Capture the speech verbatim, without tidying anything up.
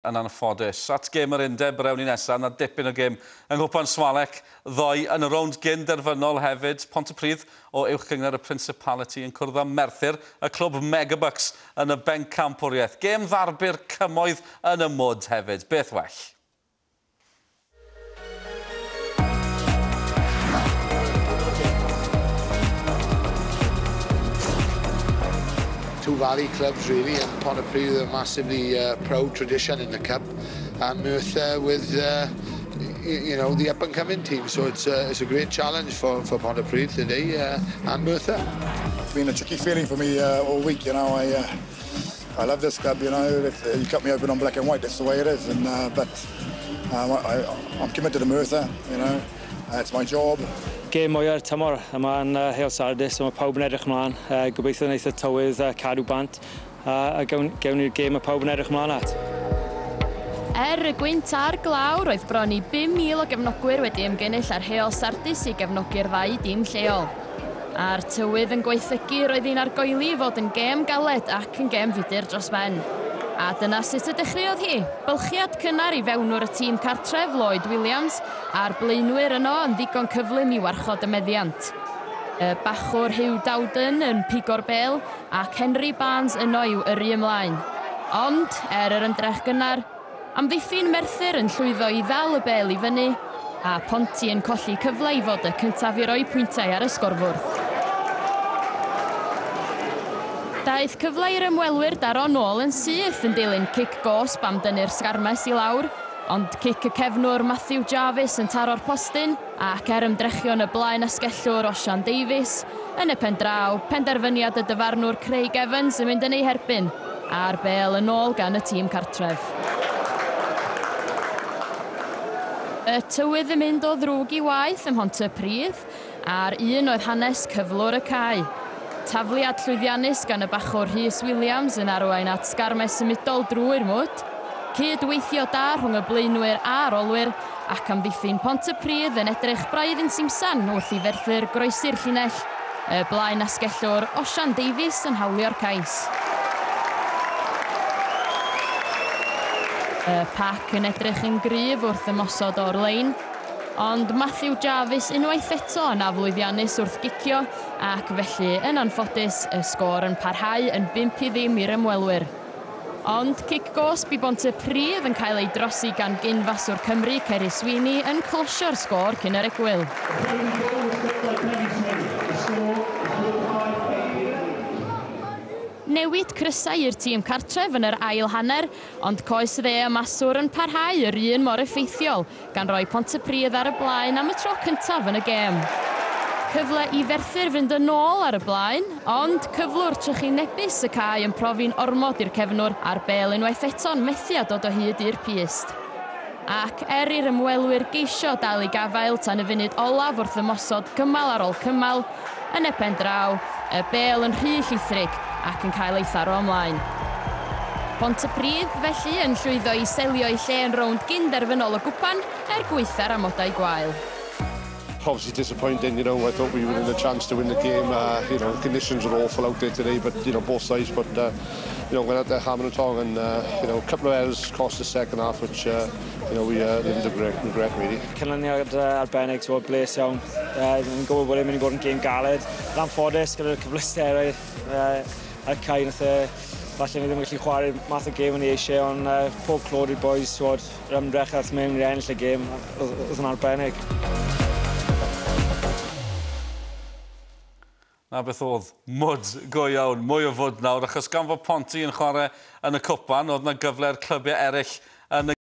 Yn anffodus. At gêm yr undeb yr ewn ni nesaf, na dipyn o gêm yng Nghwpan Swalec ddoe yn y rownd gyn derfynol hefyd. Pontypridd o Uwch Gynghrair y Principality yn cwrdd â Merthyr, y clwb Megabucks yn y bencampwriaeth. Gêm ddarbi'r cymoedd yn y mwd hefyd. Beth well? Two Valley clubs really, and Pontypridd a massively uh, proud tradition in the cup, and Merthyr with uh, you know the up and coming team. So it's uh, it's a great challenge for for Pontypridd today uh, and Merthyr. It's been a tricky feeling for me uh, all week. You know, I uh, I love this club. You know, if you cut me open on black and white, that's the way it is. And uh, but um, I, I'm committed to Merthyr. You know, uh, it's my job. Gêm mwya'r tymor yma yn uh, Heol Sardis, so mae pawb yn edrych ymlaen. Uh, gobeithio wneith y tywydd uh, cadw bant uh, a gawn, gawn ni'r gêm mae pawb yn edrych ymlaen at. Er y gwynt a'r glaw, roedd bron i bum mil o gefnogwyr wedi ymgynnull ar Heol Sardis i gefnogi'r ddau dîm lleol. A'r tywydd yn gwaethygu, roedd hi'n argoeli i fod yn gêm galed ac yn gêm fudur dros ben. A dyna sut y dechreuodd hi. Bylchiad cynnar i fewnwr y tîm cartref Lloyd Williams a'r blaenwyr yno yn ddigon cyflym i warchod y meddiant. Y bachwr Hugh Dowden yn pigo'r bêl ac Henry Barnes yno i'w yrru ymlaen. Ond, er yr ymdrech gynnar, amddiffyn Merthyr yn llwyddo i ddal y bêl i fyny a Ponty yn colli cyfle i fod y cyntaf i roi pwyntiau ar y sgorfwrdd. Daeth cyfle i'r ymwelwyr daro nôl yn syth yn dilyn cic gosb am dynnu'r sgarmes i lawr, ond cic y cefnwr Matthew Jarvis yn taro'r postyn ac er ymdrechion y blaen asgellwr Osian Davies, yn y pen draw, penderfyniad y dyfarnwr Craig Evans yn mynd yn ei herbyn, a'r bêl yn ôl gan y tîm cartref. Y tywydd yn mynd o ddrwg i waith ym Mhontypridd, a'r un oedd hanes cyflwr y cae. Tafliad llwyddiannus gan y bachwr Rhys Williams yn arwain at sgarmes symudol drwy'r mwd. Cydweithio da rhwng y blaenwyr a'r olwyr ac amddiffyn Pontypridd yn edrych braidd yn simsan wrth i Ferthyr groesi'r llinell. Y blaen asgellwr Osian Davies yn hawlio'r cais. Y pac yn edrych yn gryf wrth ymosod o'r lein, ond Matthew Jarvis unwaith eto yn aflwyddiannus wrth gicio ac felly yn anffodus y sgôr yn parhau yn bump i ddim i'r ymwelwyr. Ond cic gosb i Bontypridd yn cael ei drosi gan gyn-faswr Cymru Ceri Sweeney yn closio'r sgôr cyn yr egwyl. Newid crysau i'r tîm cartref yn yr ail hanner, ond coes dde y maswr yn parhau yr un mor effeithiol, gan roi Pontypridd ar y blaen am y tro cyntaf yn y gêm. Cyfle i Ferthyr fynd yn ôl ar y blaen, ond cyflwr trychinebus y cae yn profi'n ormod i'r cefnwr a'r bêl unwaith eto'n methu â dod o hyd i'r pyst. Ac er i'r ymwelwyr geisio dal i gafael tan y funud olaf wrth ymosod cymal ar ôl cymal, yn y pen draw, y bêl yn rhy llithrig ac yn cael ei tharo ymlaen. Pontypridd felly yn llwyddo i selio ei lle yn rownd gyn-derfynol y gwpan er gwaetha'r amodau gwael. Obviously disappointing, you know, I thought we were in a chance to win the game. Uh, you know, the conditions were awful out there today, but, you know, both sides, but, uh, you know, went out there hammer and tong and, uh, you know, a couple of errors cost the second half, which, uh, you know, we uh, didn't regret, regret really. Canlyniad uh, arbennig, ti'n gwybod, bles iawn. Uh, Yn gwybod bod e'n mynd i bod yn gêm galed. Yn anffodus gyda'r cyfleusterau uh, ar y cae, nath e, falle ni ddim yn gallu chwarae'r math o gêm o'n i eisiau, ond uh, pob clod i'r boys, ti'n gwybod, yr ymdrech ath mewn i ennill y gêm, oedd yn arbennig. Na beth oedd mwd go iawn, mwy o fwd nawr, achos gan fod Ponty yn chwarae yn y cwpan, oedd na gyfle'r clybiau eraill yn y